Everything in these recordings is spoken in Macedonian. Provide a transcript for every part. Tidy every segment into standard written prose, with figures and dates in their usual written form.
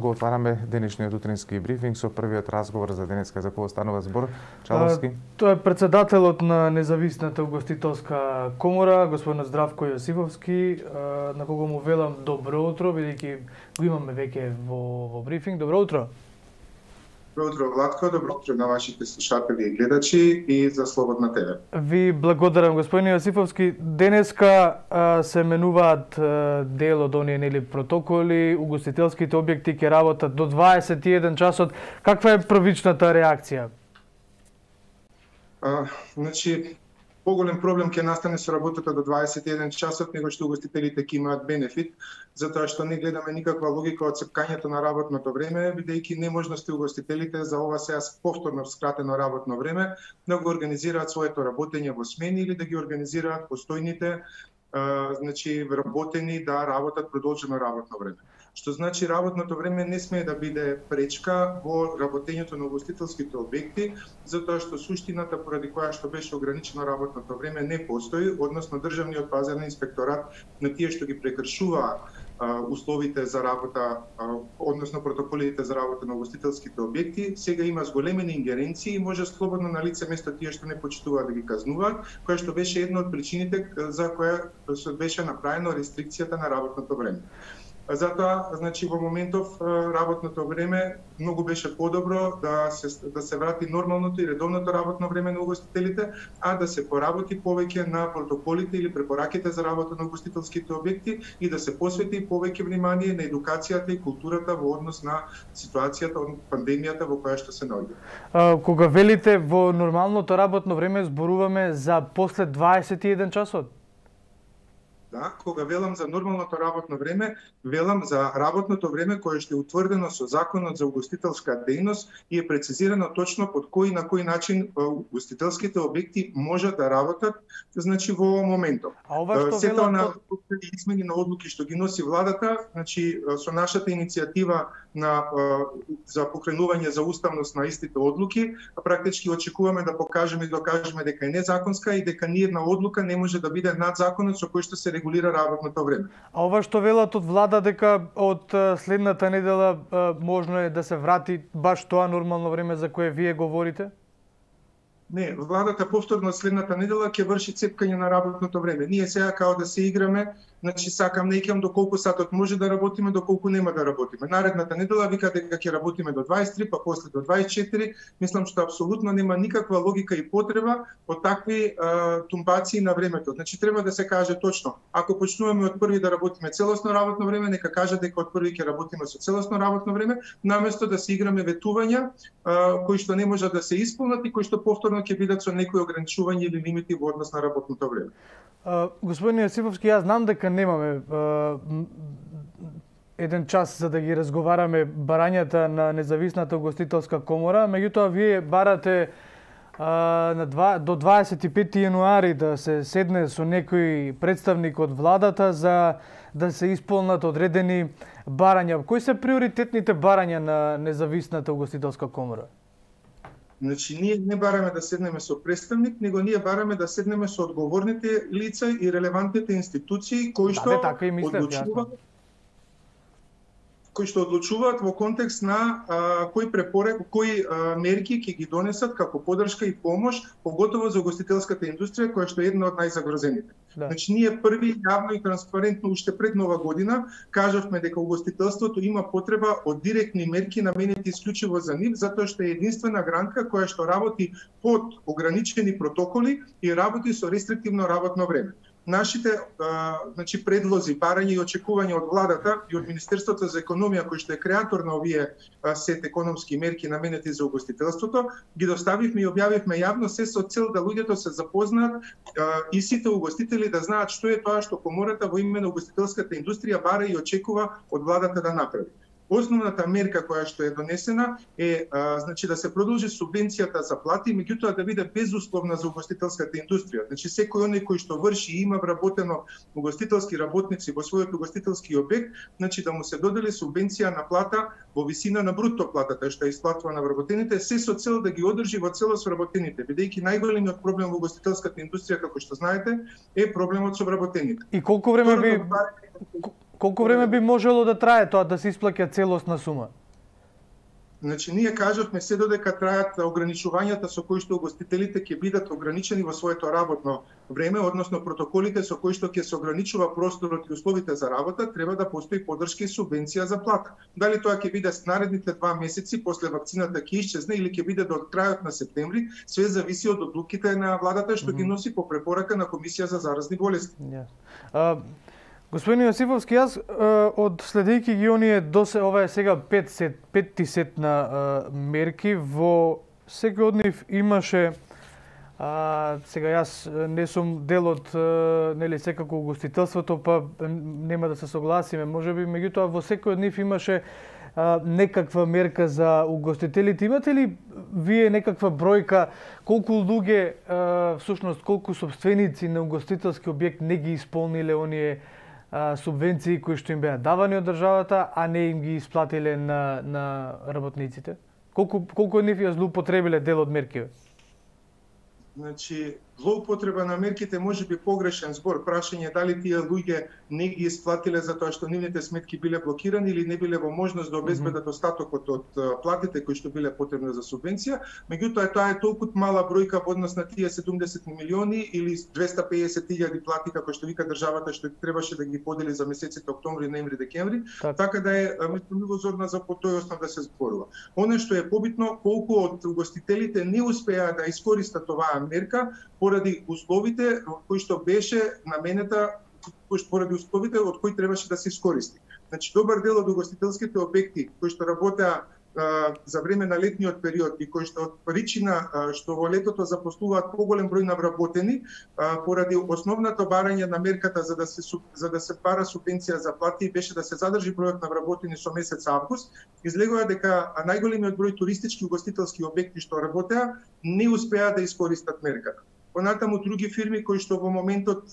го отвараме денешниот утрински брифинг со првиот разговор за денеска. За кого станува збор? Чаловски? Тоа е председателот на Независната угостителска комора, господинот Здравко Јосифовски, на кого му велам добро утро, бидејќи го имаме веќе во брифинг. Добро утро. Добро утро, Владко, добро утро на вашите слушатели и гледачи и за Слободна ТВ. Ви благодарам, господин Јосифовски. Денеска се менуваат дел од оние протоколи, угостителските објекти ќе работат до 21 часот. Каква е првичната реакција? Значи, поголем проблем ќе настане со работата до 21 часот, него што угостителите ќе имаат бенефит, затоа што не гледаме никаква логика од цепкањето на работното време, бидејќи неможности угостителите за ова сега повторно скратено работно време да го организираат своето работење во смени или да ги организираат постојните значи работени да работат продолжено работно време. Што значи работното време не смее да биде пречка во работењето на угостителските објекти, затоа што суштината поради која што беше ограничено работното време не постои, односно државниот пазарен инспекторат на тие што ги прекршуваат условите за работа, односно протоколите за работа на угостителските објекти, сега има зголемени ингеренции и може слободно на лице место тие што не почитуваат да ги казнуваат, која што беше една од причините за која беше направено рестрикцијата на работното време. Затоа, значи, во моментов работното време многу беше подобро да се врати нормалното и редовното работно време на угостителите, а да се поработи повеќе на протоколите или препораките за работа на угостителските објекти и да се посвети повеќе внимание на едукацијата и културата во однос на ситуацијата од пандемијата во која што се наоѓа. Кога велите во нормалното работно време, зборуваме за после 21 часот? Да, кога велам за нормалното работно време, велам за работното време кое што е утврдено со Законот за угостителска дејност и е прецизирано точно под кој на кој начин угостителските објекти можат да работат, значи во моментов. А ова што сето на измени на одлуки што ги носи владата, значи со нашата иницијатива за покренување за уставност на истите одлуки, практички очекуваме да покажеме и докажеме дека е незаконска и дека ниедна одлука не може да биде над законот со кој што се регулира работното време. А ова што велат од влада дека од следната недела можно е да се врати баш тоа нормално време за кое вие говорите? Не, владата повторно следната недела ќе врши цепкање на работното време. Ние сега као да се играме, значи сакам не икам до колку сатот може да работиме, до колку нема да работиме. Наредната недела вика дека ќе работиме до 23, па после до 24. Мислам што апсолутно нема никаква логика и потреба од такви тумбации на времето. Значи треба да се каже точно, ако почнуваме од први да работиме целосно работно време, нека каже дека од први ќе работиме со целосно работно време, наместо да се играме ветувања кои што не можат да се исполнат и кои што повторно ќе бидат со некои ограничувања или лимити во однос на работното време. Господин Јосифовски, јас знам дека немаме еден час за да ги разговараме барањата на Независната угостителска комора, меѓутоа вие барате до 25 јануари да се седне со некој представник од владата за да се исполнат одредени барања. Кои се приоритетните барања на Независната угостителска комора? Значи, ние не бараме да седнеме со представник, него ние бараме да седнеме со одговорните лица и релевантните институции кои што одлучуваат во контекст на кои мерки ќе ги донесат како поддршка и помош, поготово за угостителската индустрија која што е една од најзагрозените. Да. Значи ние први јавно и транспарентно уште пред Нова година кажавме дека угостителството има потреба од директни мерки наменети исклучиво за нив, затоа што е единствена гранка која што работи под ограничени протоколи и работи со рестриктивно работно време. Нашите значи предлози, барања и очекувања од владата и од Министерството за економија кој што е креатор на овие сет економски мерки наменети за угостителството, ги доставивме и објавивме јавно се со цел да луѓето се запознаат и сите угостители да знаат што е тоа што комората во име на угостителската индустрија бара и очекува од владата да направи. Основната мерка која што е донесена е значи да се продолжи субвенцијата за плати, меѓутоа да биде безусловна за угостителската индустрија. Значи секој оној кој што врши и има вработено угостителски работници во својот угостителски објект, значи да му се додели субвенција на плата во висина на бруто платата што е исплатува на вработените, се со цел да ги одржи во целост вработените, бидејќи најголемиот проблем во угостителската индустрија, како што знаете, е проблемот со вработените. И колку време Колку време би можело да трае тоа да се исплаќа целосна сума? Значи, ние кажавме се додека трајат ограничувањата со кои што угостителите ќе бидат ограничени во своето работно време, односно протоколите со кои што ќе се ограничува просторот и условите за работа, треба да постои поддршка и субвенција за плата. Дали тоа ќе биде наредните 2 месеци после вакцината ќе исчезне или ќе биде до крајот на септември, све зависи од одлуките на владата што ги носи по препорака на Комисија за заразни болести. Господин Јосифовски, јас од следејќи ги оние ова е сега 5 сет на мерки, во секој од нив имаше сега јас не сум дел од нели секако угостителството, па нема да се согласиме, можеби, меѓутоа во секој од нив имаше некаква мерка за угостителите. Имате ли вие некаква бројка колку луѓе, всушност колку собственици на угостителски објект не ги исполниле оние субвенции кои што им беа давани од државата, а не им ги исплатиле на работниците? Колку од нив ја злоупотребиле дел од мерките? Значи, злоупотреба на мерките може би погрешен збор. Прашање дали тие луѓе не ги исплатиле затоа што нивните сметки биле блокирани или не биле во можност да обезбедат остатокот од платите кои што биле потребни за субвенција. Меѓутоа, тоа е толку мала бројка во однос на тие 70 милиони или 250.000 плати, како што вика државата, што требаше да ги подели за месеците октомври, ноември, декември. Така да е милозорна за по тој основ да се зборува. Она што е побитно, колку од угостителите не успеа да искористат оваа мерка поради условите кои што беше наменета, поради условите од кои требаше да се искористи. Значи, добар дел од угостителските објекти кои што работеа за време на летниот период и кои што од причина што во летото запослуваат поголем број на вработени, поради основното барање на мерката за да се бара субвенција за плати беше да се задржи бројот на вработени со месец август, излегува дека најголемиот број туристички угостителски објекти што работеа не успеа да искористат мерката. Понатаму други фирми кои што во моментот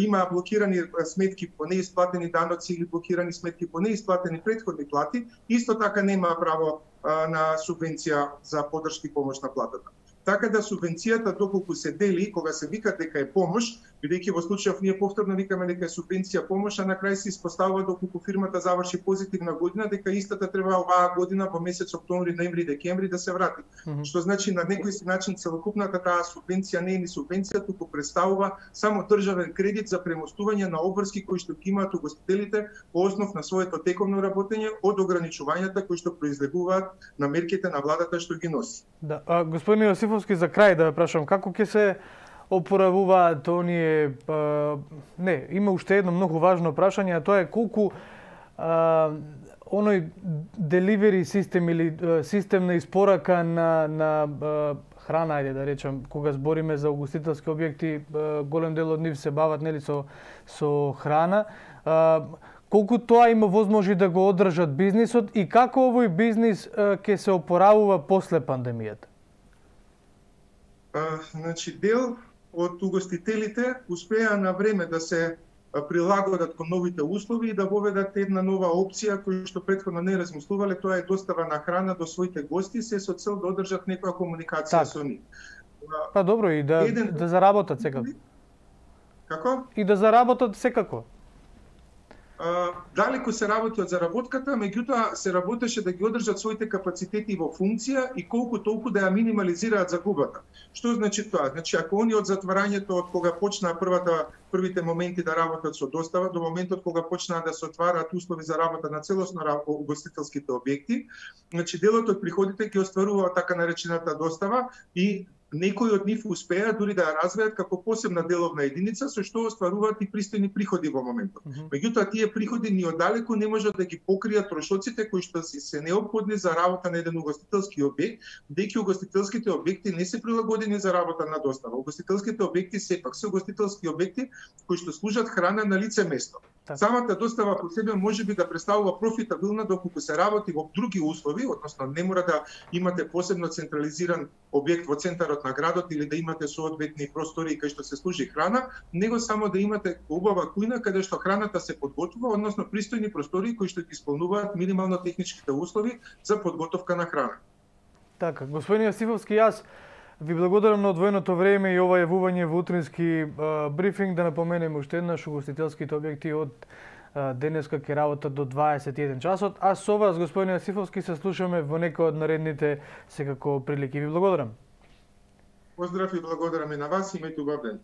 има блокирани сметки по неисплатени даноци или блокирани сметки по неисплатени претходни плати, исто така нема право на субвенција за поддршка и помош на платата. Така да субвенцијата доколку се дели, кога се вика дека е помош, бидејќи во случајов ние повторно викаме дека е субвенција помош, а на крај се испоставува доколку фирмата заврши позитивна година, дека истата треба оваа година во месец октомври, ноември, декември да се врати. Што значи на некој начин целокупната таа субвенција не е ни субвенција, туку представува само државен кредит за премостување на обврски кои што ги имаат угостителите по основ на своето тековно работење од ограничувањата кои што произлегуваат на мерките на владата што ги носи. Да, господин Јосифовски, за крај да ве прашам, како ќе се опоравуваат оние не, има уште едно многу важно прашање, а тоа е колку оној деливери систем или систем на испорака на храна, ајде да речам, кога збориме за угостителски објекти, голем дел од нив се бават нели со храна. Колку тоа има возможи да го одржат бизнисот и како овој бизнис ќе се опоравува после пандемијата? Значи, дел од угостителите успеа на време да се прилагодат кон новите услови и да воведат една нова опција која што претходно не размислувале, тоа е достава на храна до своите гости, се со цел да одржат некоја комуникација со нив. Па добро, и да заработат секако. Како? И да заработат секако. Далеку се работи од заработката, меѓутоа се работеше да ги одржат своите капацитети во функција и колку толку да ја минимализираат загубата. Што значи тоа? Значи, ако они од затварањето, од кога почнаа првите моменти да работат со достава, до моментот кога почнаа да се отвараат услови за работа на целосно угостителските објекти, значи делот од приходите ги остварува така наречената достава и некои од нив успеа дури да ја развијат како посебна деловна единица, со што остваруваат и пристојни приходи во моментот. Меѓутоа, тие приходи ни оддалеку не можат да ги покријат трошоците кои што се неопходни за работа на еден угостителски објект, бидејќи угостителските објекти не се прилагодени за работа на достава. Угостителските објекти сепак се угостителски објекти кои што служат храна на лице место. Самата достава по себе може би да представува профитабилна доколку се работи во други услови, односно не мора да имате посебно централизиран објект во центарот на градот или да имате соодветни простори кај што се служи храна, него само да имате убава кујна каде што храната се подготвува, односно пристојни простори кои што ги исполнуваат минимално техничките услови за подготовка на храна. Така, господин Јосифовски, јас ви благодарам на одвоеното време и ова јавување во утрински брифинг. Да напоменем уште еднаш, угостителските објекти од денеска ќе работат до 21 часот, а со вас, господин Јосифовски, се слушаме во некој од наредните секако прилики. Ви благодарам. Поздрав и благодарам и на вас, имајте убав ден.